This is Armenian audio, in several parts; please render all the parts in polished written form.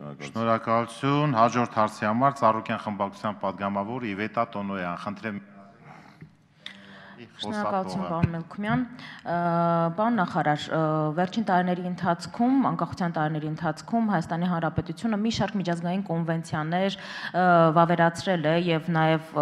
Շնորհակալություն, հաջորդ հարցի համար Ծառուկյան խմբակցության պատգամավոր Իվետա Տոնոյան, խնդրեմ Շնորհակալություն, պարոն Մելքումյան, պարոն նախարար, վերջին տարիների ընթացքում, անկախության տարիների ընթացքում Հայաստանի Հանրապետությունը մի շարք միջազգային կոնվենցիաներ վավերացրել է եւ նաեւ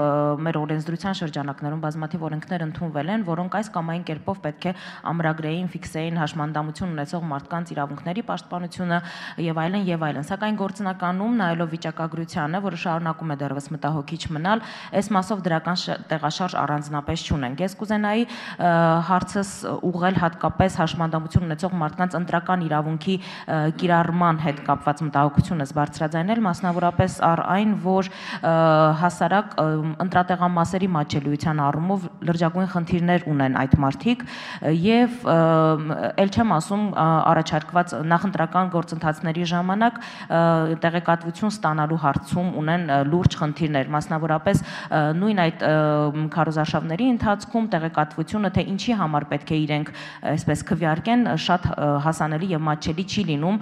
մեր օրենսդրության շրջանակներում բազմաթիվ օրենքներ ընդունվել են, որոնք այս կամ այն կերպով պետք է ամրագրեին, ֆիքսեին հաշմանդամություն ունեցող մարդկանց իրավունքների պաշտպանությունը եւ այլն եւ այլն, սակայն գործնականում նայելով վիճակագրությանը, որը շարունակում է դեռևս մտահոգիչ մնալ, այս մասով դրական տեղաշարժ առանձնապես չունենք։ Ես կուզենայի հարցս ուղղել հատկապես հաշմանդամություն ունեցող մարդկանց ընտրական իրավունքի կիրառման հետ կապված մտահոգությունս բարձրաձայնել, մասնավորապես առ այն, որ հասարակ ընտրատեղամասերի մատչելիության առումով լրջագույն խնդիրներ ունեն այդ մարդիկ եւ ել չեմ ասում առաջարկված նախընտրական գործընթացների ժամանակ տեղեկատվություն ստանալու հարցում ունեն լուրջ խնդիրներ, մասնավորապես նույն այդ քարոզարշավների ընթացքում տեղեկատվությունը, թե ինչի համար պետք է իրենք այսպես քվեարկեն, շատ հասանելի եւ մատչելի չի լինում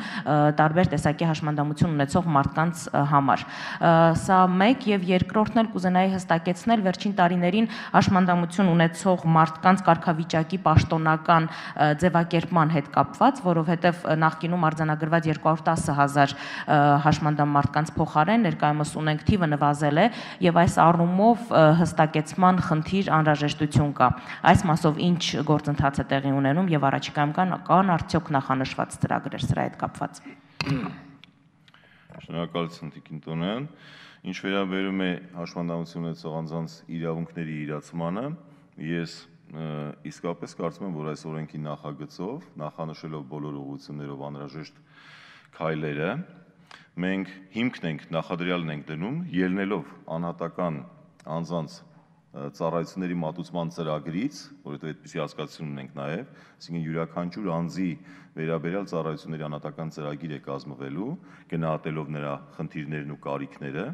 տարբեր տեսակի հաշմանդամություն ունեցող մարդկանց համար։ Սա մեկ եւ երկրորդն էլ կուզենայի հստակեցնել վերջին տարիներին հաշմանդամություն ունեցող մարդկանց կարգավիճակի պաշտոնական ձևակերպման հետ կապված, որովհետեւ նախկինում արձանագրված 210,000 հաշմանդամ մարդկանց փոխարեն ներկայումս ունենք թիվը նվազել է եւ այս առումով հստակեցման խնդիր անհրաժեշտություն կա։ Այս մասով ինչ գործընթաց է տեղի ունենում եւ առաջիկայում կան արդյոք նախանշված ծրագրեր սրա հետ կապված։ Շնորհակալություն Տիկին Տոնոյան։ Ինչ վերաբերում է հաշմանդամություն ունեցող անձանց իրավունքների իրացմանը, ես իսկապես կարծում եմ, որ այս օրենքի նախագծով, նախանշելով բոլոր ուղղություններով անհրաժեշտ քայլերը, մենք հիմքն ենք, նախադրյալն ենք դնում, ելնելով անհատական անձանց ծառայությունների մատուցման ծրագրից, որովհետև այդպիսի հասկացություն ունենք նաև, այսինքն յուրաքանչյուր անձի վերաբերյալ ծառայությունների անհատական ծրագիր է կազմվելու, գնահատելով նրա խնդիրներն ու կարիքները,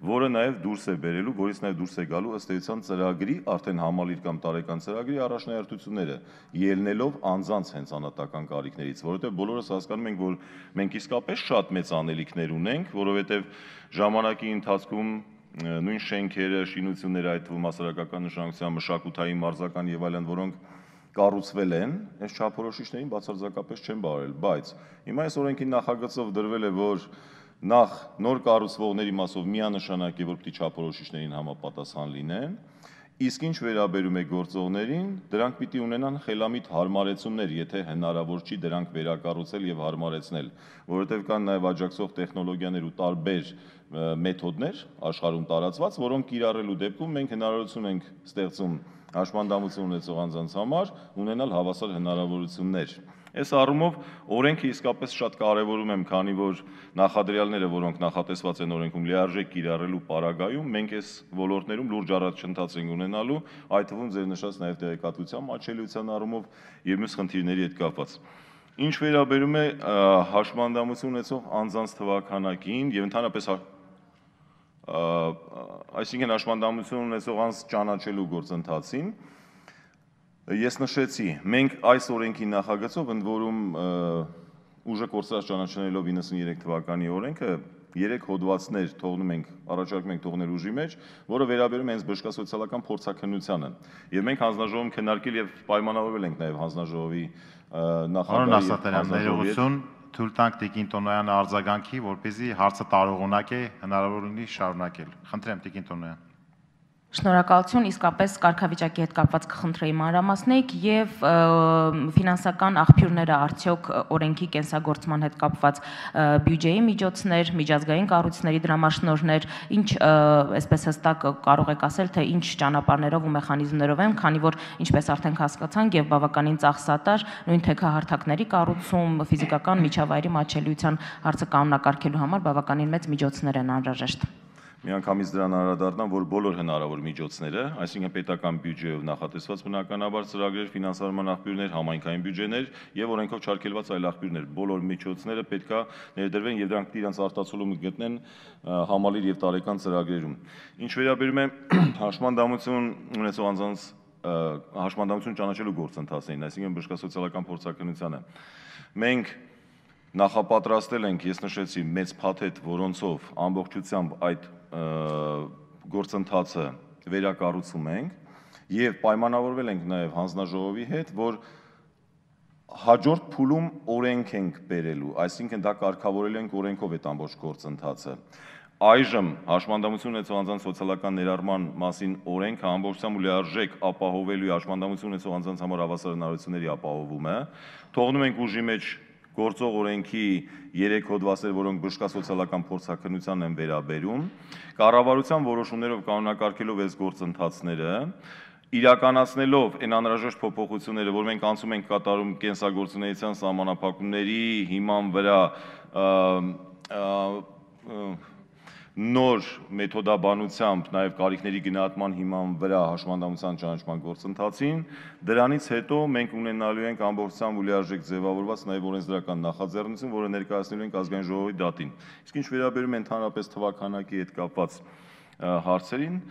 որը նաև դուրս է բերելու, որից նաև դուրս է գալու ըստ էության ծրագրի, արդեն համալիր կամ տարեկան ծրագրի առաջնահերթությունները, ելնելով անձանց հենց անհատական կարիքներից, որովհետև բոլորս հասկանում ենք, որ մենք իսկապես շատ մեծ անելիքներ ունենք, որովհետև ժամանակի ընթացքում նույն շենքերը, շինությունները, այդ թվում հասարակական նշանակության մշակութային, մարզական եւ այլն, որոնք կառուցվել են, այս չափորոշիչներին բացարձակապես չեն բարել, բայց հիմա այս օրենքի նախագծով դրվել է, որ նախ նոր կառուցվողների մասով միանշանակ է, որ պիտի չափորոշիչներին համապատասխան լինեն, իսկ ինչ վերաբերում է գործողներին, դրանք պիտի ունենան խելամիտ հարմարեցումներ, եթե հնարավոր չի դրանք վերակառուցել եւ հարմարեցնել, որովհետեւ կան նաեւ աջակցող տեխնոլոգիաներ ու տարբեր մեթոդներ աշխարհում տարածված, որոնք կիրառելու դեպքում մենք հնարավորություն ենք ստեղծում հաշմանդամություն ունեցող անձանց համար ունենալ հավասար հնարավորություններ։ Այս առումով օրենքը իսկապես շատ կարևորում եմ, քանի որ նախադրյալները, որոնք նախատեսված են օրենքում լիարժեք կիրառելու պարագայում, մենք այս ոլորտներում լուրջ առաջընթաց ենք ունենալու, այդ թվում ձեր նշած նաև տեղեկատվության մատչելիության առումով եւ մյուս խնդիրների հետ կապված։ Ինչ վերաբերում է հաշմանդամություն ունեցող անձանց թվաքանակին եւ ընդհանրապես այսինքն հաշմանդամություն ունեցող անձ ճանաչելու գործընթացին, ես նշեցի, մենք այս օրենքի նախագծով, ընդ որում ուժը կորսած ճանաչելով 93 թվականի օրենքը 3 հոդվածներ թողնում ենք, առաջարկում ենք թողնել ուժի մեջ, որը վերաբերում է հենց բժշկասոցիալական փորձաքննությանը։ Եվ մենք հանձնաժողովում քննարկել եւ պայմանավորվել ենք նաեւ հանձնաժողովի նախագահի թույլ տանք Տիկին Տոնոյանը արձագանքի, որպեսզի հարցը տարողունակ է, հնարավոր լինի շարունակել։ Խնդրեմ Տիկին Տոնոյան։ Շնորհակալություն, իսկապես կարգավիճակի հետ կապված կխնդրեի մանրամասնեք եւ ֆինանսական աղբյուրները արդյոք օրենքի կենսագործման հետ կապված բյուջեի միջոցներ, միջազգային կառույցների դրամաշնորհներ, ինչ այսպես հստակ կարող եք ասել, թե ինչ ճանապարհներով ու մեխանիզմներով են, քանի որ ինչպես արդեն հասկացանք եւ բավականին ծախսատար նույն թեքահարթակների կառուցում, ֆիզիկական միջավայրի մատչելիության հարցը կանոնակարգելու համար բավականին մեծ միջոցներ են անհրաժեշտ։ Միանգամից դրան անդրադառնամ, որ բոլոր հնարավոր միջոցները, այսինքն պետական բյուջեով նախատեսված բնականաբար ծրագրեր, ֆինանսավորման աղբյուրներ, համայնքային բյուջեներ եւ օրենքով չարգելված այլ աղբյուրներ, բոլոր միջոցները պետքա ներդրվեն եւ դրանք իրենց արտացոլում գտնեն համալիր եւ տարեկան ծրագրերում։ Ինչ վերաբերում է հաշմանդամություն ունեցող անձանց հաշմանդամություն ճանաչելու գործընթացին, այսինքն բժշկասոցիալական փորձաքննությանը, մենք նախապատրաստել ենք, ես նշեցի, մեծ փաթեթ, որոնցով ամբողջությամբ այդ գործընթացը վերակառուցում ենք եւ պայմանավորվել ենք նաեւ հանձնաժողովի հետ, որ հաջորդ փուլում օրենք ենք բերելու, այսինքն դա կարգավորելու ենք օրենքով այդ ամբողջ գործընթացը։ Այժմ հաշմանդամություն ունեցող անձանց սոցիալական ներառման մասին օրենքը ամբողջությամբ ու լիարժեք ապահովելու հաշմանդամություն ունեցող անձանց համար հավասար հնարավորությունների ապահովումը, թողնում ենք ուժի մեջ գործող օրենքի 3 հոդվածներ, որոնք բժշկա սոցիալական փորձաքննությանն են վերաբերում, կառավարության որոշումներով կանոնակարգելով այս գործընթացները, իրականացնելով այն անհրաժեշտ փոփոխությունները, որ մենք անցում ենք կատարում կենսագործունեության սահմանափակումների հիման վրա նոր մեթոդաբանությամբ, նաև կարիքների գնահատման հիման վրա հաշմանդամության ճանաչման գործընթացին, դրանից հետո մենք ունենալու ենք ամբողջությամբ ու լիարժեք ձևավորված նաև օրենսդրական նախաձեռնություն, որը ներկայացնելու ենք ազգային ժողովի դատին։ Իսկ ինչ վերաբերում է ընդհանրապես թվաքանակի հետ կապված հարցերին,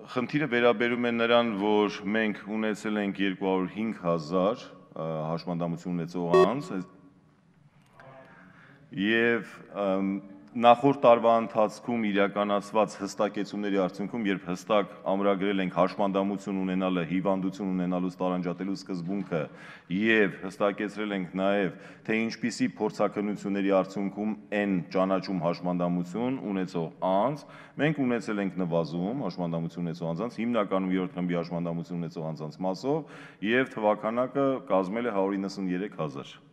խնդիրը վերաբերում է նրան, որ մենք ունեցել ենք 205,000 հաշմանդամություն ունեցող անձ եւ նախորդ տարվա ընթացքում իրականացված հստակեցումների արդյունքում, երբ հստակ ամրագրել ենք հաշմանդամություն ունենալը, հիվանդություն ունենալուց տարանջատելու սկզբունքը եւ հստակեցրել ենք նաեւ, թե ինչպիսի փորձաքննությունների արդյունքում են ճանաչում հաշմանդամություն ունեցող անձ, մենք ունեցել ենք նվազում հաշմանդամություն ունեցող անձանց, հիմնականում 3-րդ խմբի հաշմանդամություն ունեցող անձանց մասով եւ թվականակը կազմել է 193,000